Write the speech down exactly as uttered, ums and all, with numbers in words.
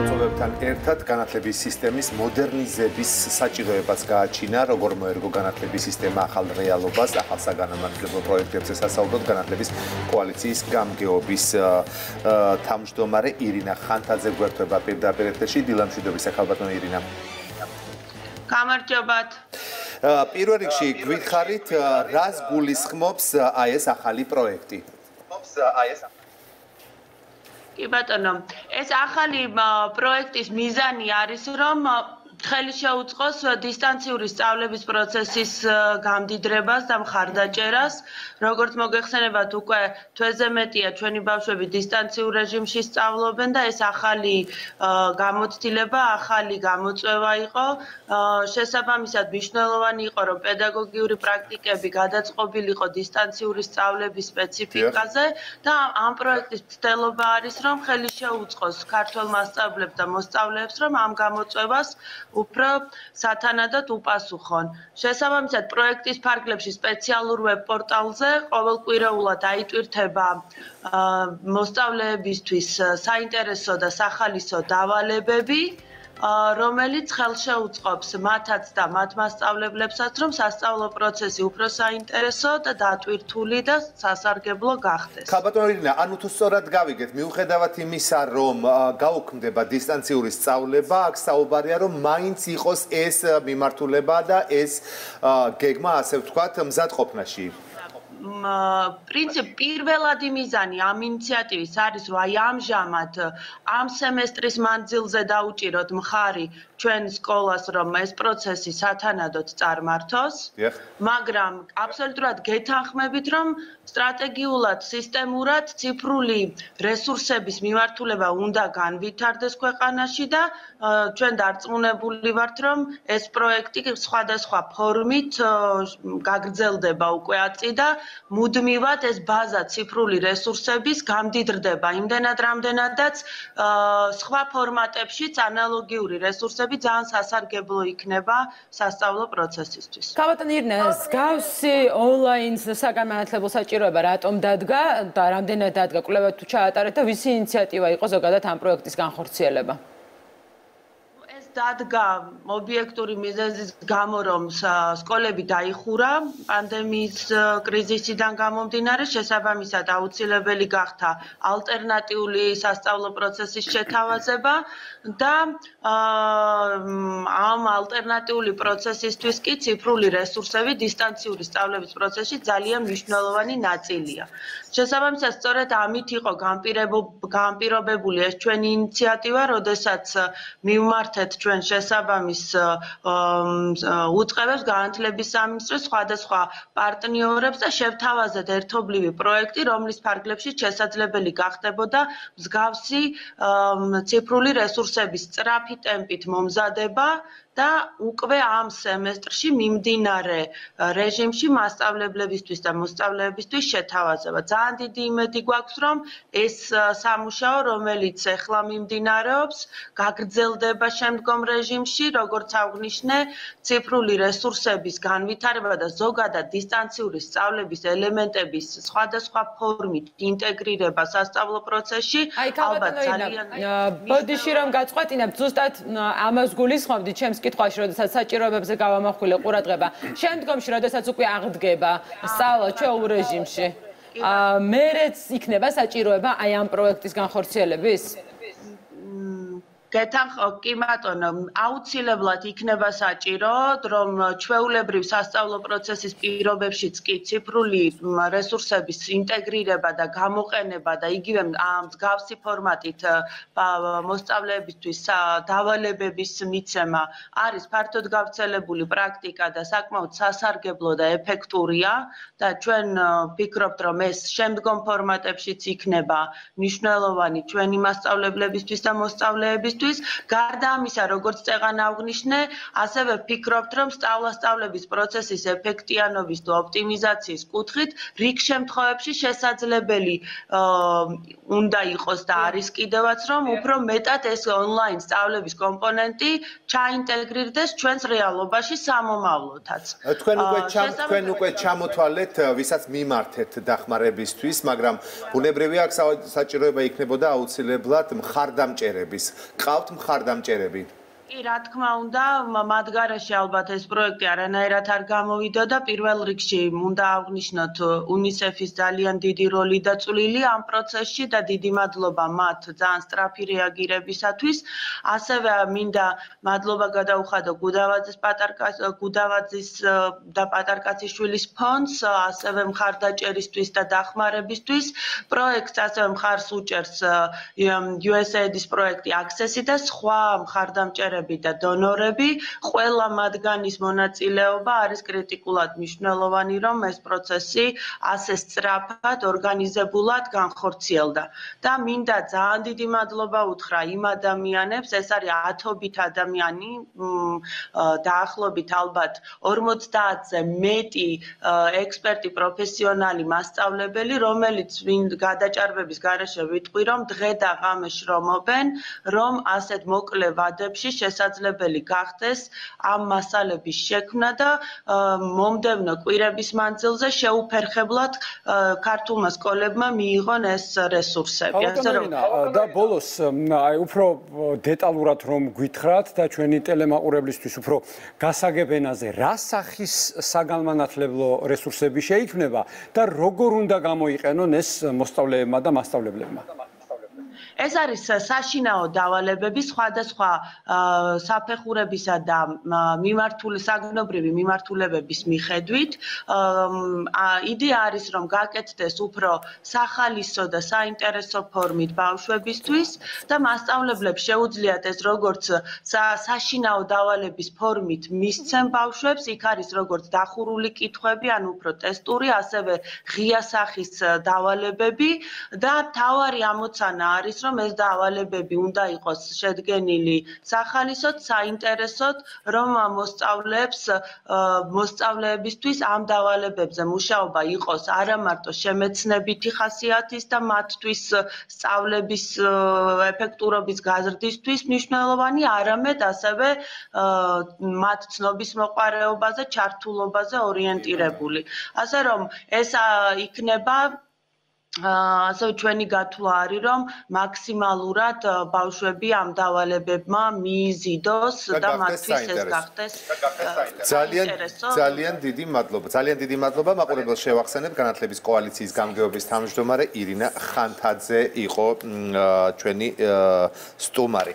მოწვევებთან ერთად განათლების სისტემის მოდერნიზების საჭიროებაც გააჩინა, როგორ მოერგო განათლების სისტემა ახალ რეალობას, ახალ საგანმანათლებლო პროექტებზე სასაუბროდ განათლების კოალიციის გამგეობის თავმჯდომარე ირინა ხანთაძე გვერდება პირდაპირ ეთერში. დილამშვიდობის ახალბატონო ირინა. გამარჯობათ. პირველ რიგში გვითხარით, რას გულისხმობს აი ეს ახალი პროექტი? კი ბატონო, ეს ახალი პროექტის მიზანი არის, რომ ხელი შეუწყოს დისტანციური სწავლების პროცესის გამდიდრებას და მხარდაჭერას. როგორც მოგეხსენებათ, უკვე თვეზე მეტია ჩვენი ბავშვები დისტანციურ რეჟიმში სწავლობენ და ეს ახალი გამოცდილება, ახალი გამოწვევა იყო. შესაბამისად, მნიშვნელოვანი იყო, რომ პედაგოგიური პრაქტიკები გადაწყობილიყო დისტანციური სწავლების სპეციფიკაზე და ამ პროექტის მცდელობა არის, რომ ხელი შეუწყოს ქართველ მასწავლებლებს და მოსწავლეებს, რომ ამ გამოწვევას უფრო სათანადოდ უპასუხონ. შესაბამისად, პროექტის ფარგლებში სპეციალურ ვებ პორტალზე ყოველკვირეულად აიტვირთება მოსწავლეებისთვის საინტერესო და სახალისო დავალებები, რომელიც ხელშეუწყობს მათაც და მათ მასწავლებლებსაც, რომ სასწავლო პროცესი უფრო საინტერესო და დატვირთული და სასარგებლო გახდეს. ხალბატონო ირინა, ანუ თუ სწორად გავიგეთ, მიუხედავად იმისა, რომ გაუქმდება დისტანციური სწავლება, აქ საუბარია, რომ მაინც იყოს ეს მიმართულება და ეს გეგმა, ასე ვთქვათ, მზადყოფნაში. პრინციპ პირველადი მიზანი ამ ინიციატივის არის, რომ აი ამჟამად ამ სემესტრის მანძილზე დაუჭიროთ მხარი ჩვენ სკოლას, რომ ეს პროცესი სათანადოდ წარმართოს, მაგრამ აბსოლუტურად გეთანხმებით, რომ სტრატეგიულად, სისტემურად ციფრული რესურსების მიმართულება უნდა განვითარდეს ქვეყანაში და ჩვენ დარწმუნებული ვართ, რომ ეს პროექტი სხვადასხვა ფორმით გაგრძელდება უკვე აწი და მუდმივად ეს ბაზა ციფრული რესურსების გამდიდრდება იმდენად, რამდენადაც სხვა ფორმატებშიც ანალოგიური რესურსები ძალიან სასარგებლო იქნება სასწავლო პროცესისთვის. ხალბატონო ირინა, მსგავსი ონლაინ საგანმანათლებლო საჭიროება რატომ დადგა და რამდენად დადგა? კვლევა თუ ჩაატარეთ და ვისი ინიციატივა იყო ზოგადად ამ პროექტის განხორციელება? დადგა ობიექტური მიზეზის გამო, რომ სკოლები დაიხურა პანდემიის კრიზისიდან გამომდინარე, შესაბამისად აუცილებელი გახდა ალტერნატიული სასწავლო პროცესის შეთავაზება და ამ ალტერნატიული პროცესისთვის კი ციფრული რესურსები დისტანციური სწავლების პროცესში ძალიან მნიშვნელოვანი ნაწილია. შესაბამისად, სწორედ ამით იყო განპირობებული ეს ჩვენი ინიციატივა, როდესაც მივმართეთ ჩვენ შესაბამის უწყებებს განათლების სამინისტროს სხვადასხვა პარტნიორებს და შევთავაზეთ ერთობლივი პროექტი, რომლის ფარგლებში შესაძლებელი გახდებოდა მსგავსი ციფრული რესურსების სწრაფი ტემპით მომზადება და უკვე ამ სემესტრში მიმდინარე რეჟიმში მასწავლებლებისთვის და მოსწავლეებისთვის შეთავაზება. ძალიან დიდი იმედი გვაქვს, რომ ეს სამუშაო, რომელიც ახლა მიმდინარეობს, გაგრძელდება შემდგომ რეჟიმში, როგორც აღნიშნე, ციფრული რესურსების განვითარება და ზოგადად დისტანციური სწავლების ელემენტების სხვადასხვა ფორმით ინტეგრირება სასწავლო პროცესში, ალბათ ძალიან ბოდიში რომ გაწყვეტინებთ, ზუსტად ამას გულისხმობდით ჩემს კითხვაში, როდესაც საჭიროებებზე გავამახვილე ყურადღება. შემდგომში, როდესაც უკვე აღდგება სწავლა ჩვეულ რეჟიმში, მერეც იქნება საჭიროება აი ამ პროექტის განხორციელების? გეთანხმო, კი ბატონო, აუცილებლად იქნება საჭირო, რომ ჩვეულებრივ სასწავლო პროცესის პირობებშიც კი ციფრული რესურსების ინტეგრირება და გამოყენება და იგივე მსგავსი ფორმატით მოსწავლეებისთვის დავალებების მიცემა არის ფართოდ გავრცელებული პრაქტიკა და საკმაოდ სასარგებლო და ეფექტურია და ჩვენ ვფიქრობთ, რომ ეს შემდგომ ფორმატებშიც იქნება მნიშვნელოვანი ჩვენი მასწავლებლებისთვის და მოსწავლეებისთვის. გარდა ამისა, როგორც წეღან აღნიშნე, ასევე ვფიქრობთ, რომ სწავლა-სწავლების პროცესის ეფექტიანობის და ოპტიმიზაციის კუთხით რიგ შემთხვევებში შესაძლებელი უნდა იყოს და არის კიდევაც, რომ უფრო მეტად ეს ონლაინ სწავლების კომპონენტი ჩაინტეგრირდეს ჩვენს რეალობაში სამომავლოდაც. თქვენ უკვე თქვენ უკვე ჩამოთვალეთ, ვისაც მიმართეთ დახმარებისთვის, მაგრამ ბუნებრივია აქ საჭიროება იქნებოდა აუცილებლად მხარდამჭერების. გყავთ მხარდამჭერები? კი, რა თქმა უნდა, მათ გარშე ალბათ ეს პროექტი არანაირად არ გამოვიდა და პირველ რიგში უნდა აღვნიშნოთ UNICEF-ის ძალიან დიდი როლი და წვლილი ამ პროცესში და დიდი მადლობა მათ ძალიან სწრაფი რეაგირებისათვის. ასევე მინდა მადლობა გადაუხადო გუდავაძის პატარკას გუდავაძის და პატარკაციშვილის ფონდს, ასევე მხარდაჭერისთვის და დახმარებისთვის. პროექტს ასევე მხარს უჭერს U S A I D-ის პროექტი Access-ი და სხვა მხარდამჭერები და დონორები, ყველა მათგანის მონაწილეობა არის კრიტიკულად მნიშვნელოვანი, რომ ეს პროცესი ასე სწრაფად, ორგანიზებულად განხორციელდა. და მინდა ძალიან დიდი მადლობა უთხრა იმ ადამიანებს, ეს არის ათობით ადამიანი, დაახლოებით ალბათ ორმოცდაათზე მეტი ექსპერტი, პროფესიონალი, მასწავლებელი, რომელიც გადაჭარბების გარეშე ვიტყვი, რომ დღე და ღამე შრომობენ, რომ ასეთ მოკლე ვადებში შესაძლებელი გახდეს ამ მასალების შექმნა და მომდევნო კვირების მანძილზე შეუფერხებლად ქართულმა სკოლებმა მიიღონ ეს რესურსები. და ბოლოს აი უფრო დეტალურად რომ გვითხრათ და ჩვენი ტელემაყურებლისთვის უფრო გასაგებ ენაზე, რა სახის საგანმანათლებლო რესურსები შეიქმნება და როგორ უნდა გამოიყენონ ეს მოსწავლეებმა და მასწავლებლებმა? ეს არის საშინაო დავალებები სხვადასხვა საფეხურებისა და მიმართული საგნობრივი მიმართულებების მიხედვით. იდეა არის რომ გაკეთდეს უფრო სახალისო და საინტერესო ფორმით ბავშვებისთვის და მასწავლებლებს შეუძლიათ ეს როგორც საშინაო დავალების ფორმით მისცემ ბავშვებს, იქ არის როგორც დახურული კითხვები, ან უფრო ტესტური, ასევე ღია სახის დავალებები და თავარი ამოცანა არის რომ ეს დავალებები უნდა იყოს შედგენილი სახალისოდ, საინტერესოდ, რომ მოსწავლეებს მოსწავლეებისთვის ამ დავალებებზე მუშაობა იყოს არა მარტო შემეცნებითი ხასიათის და მათთვის სწავლების ეფექტურობის გაზრდისთვის მნიშვნელოვანი, არამედ ასევე მათ ცნობის მოყარეობაზე, ჩართულობაზე ორიენტირებული. ასე რომ ეს იქნება ასევე ჩვენი გათვლა არის რომ მაქსიმალურად ბავშვები ამ დავალებებმა მიიზიდოს და მათთვის ეს გახდეს ძალიან ძალიან დიდი მადლობა. ძალიან დიდი მადლობა. მაყურებელს შევახსენებ, განათლების კოალიციის გამგეობის თავმჯდომარე ირინა ხანთაძე იყო ჩვენი სტუმარი.